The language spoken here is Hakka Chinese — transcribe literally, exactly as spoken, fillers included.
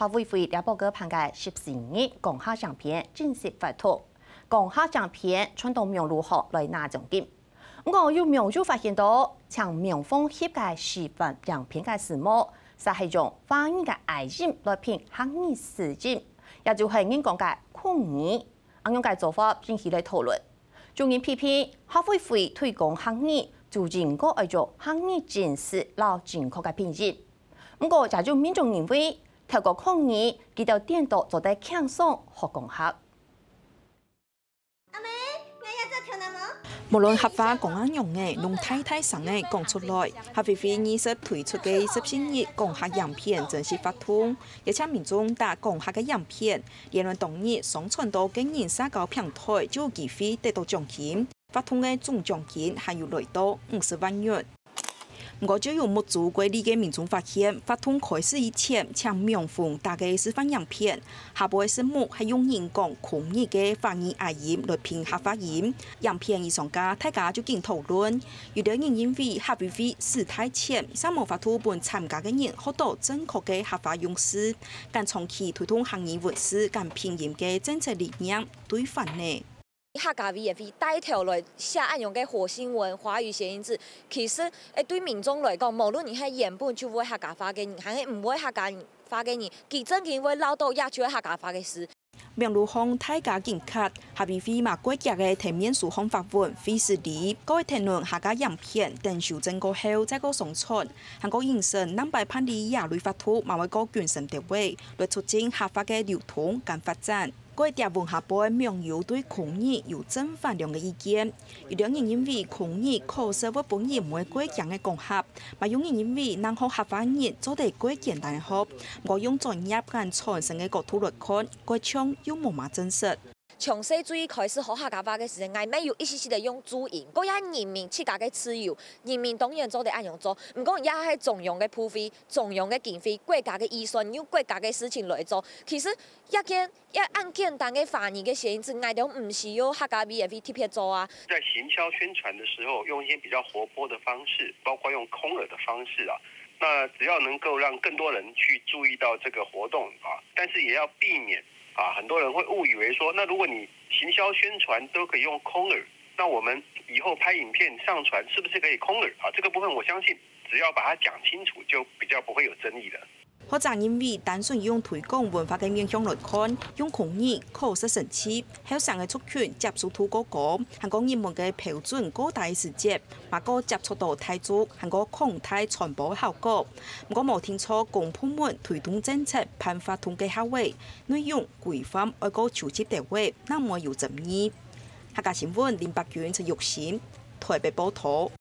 客委會這擺个辦个十四日講客影片正式發通，講客影片傳到網路項來拿獎金。毋過有網友發現到，請網方翕个示範影片个時節，煞係用華語个譯音來拼客語字音，也就係人講个口語。恁樣个做法引起了討論。有人批評客委會推廣客語就應該愛用客語正式摎正確个拼音。毋過也有民眾認為，透過口語，佢兜顛倒做得輕鬆學講客。阿姆，𠊎也做條男模。無論客話講啊仰仔，攏大大聲仔講出來。客委會二十推出个十四日講客影片正式發通，邀請民眾打講客个影片，連絃當日上傳到個人社交平台就有機會得到獎金。發通个總獎金還有來到五十萬元。 毋過就有目珠過利个民眾發現，發通開始以前，請網方打个示範影片，下背字幕係用人講口語个華語譯音來拼客話音。影片一上架，大家就緊討論。有兜人認為客委會使大錢，煞無法度分參加个人學到正確个客話用字，敢長期推動客語文字敢拼音个政策理念對反呢？ 客家委員會帶頭來寫恁樣个活新聞、華語諧音字，其實，誒，對民眾來講，無論你係原本就會客家話个人，還係毋會客家話个人，佢正經會恅著也就係客家話个字。網路項大家緊磕，客委會嘛過遽个在面書項發文廢除哩，過會討論下架影片，等修正過後再過上傳，還過引申南擺辦理這類活動嘛會過謹慎兜仔，來促進客話个流通跟發展。 該條文下背網友對口語有正反兩个意見。有兜人認為口語確實會分人毋會過驚个講客，嘛有人認為能學客話人做得過簡單學，毋過用專業跟傳承个角度來看，該像又無麼真實。從細最開始學客家話个時節，𠊎乜有一息息仔用注音，該也人民自家个自由，人民當然做得恁樣做。毋過也係中央个部費、中央个經費、國家个預算，用國家个事情來做。其實這件 這恁簡單个華語个諧音字，𠊎兜毋需要客家委員會特別做啊。在行銷宣傳的時候，用一些比較活潑的方式，包括用空耳的方式啊，那只要能夠讓更多人去注意到這個活動啊，但是也要避免啊，很多人會誤以為說，那如果你行銷宣傳都可以用空耳，那我們以後拍影片上傳是不是可以空耳啊？這個部分我相信只要把它講清楚，就比較不會有爭議了。 學者認為，單純用推廣文化个面向來看，用口語確實神奇，後生个族群接受度過高，還過入門个標準過低个時節，嘛過接觸到大眾，還過擴大傳播个效果。毋過無定著公部門推動政策辦活動个效果，內容規範愛過周密兜仔，正毋會有爭議。客家新聞林伯君、陳玉興，台北報導。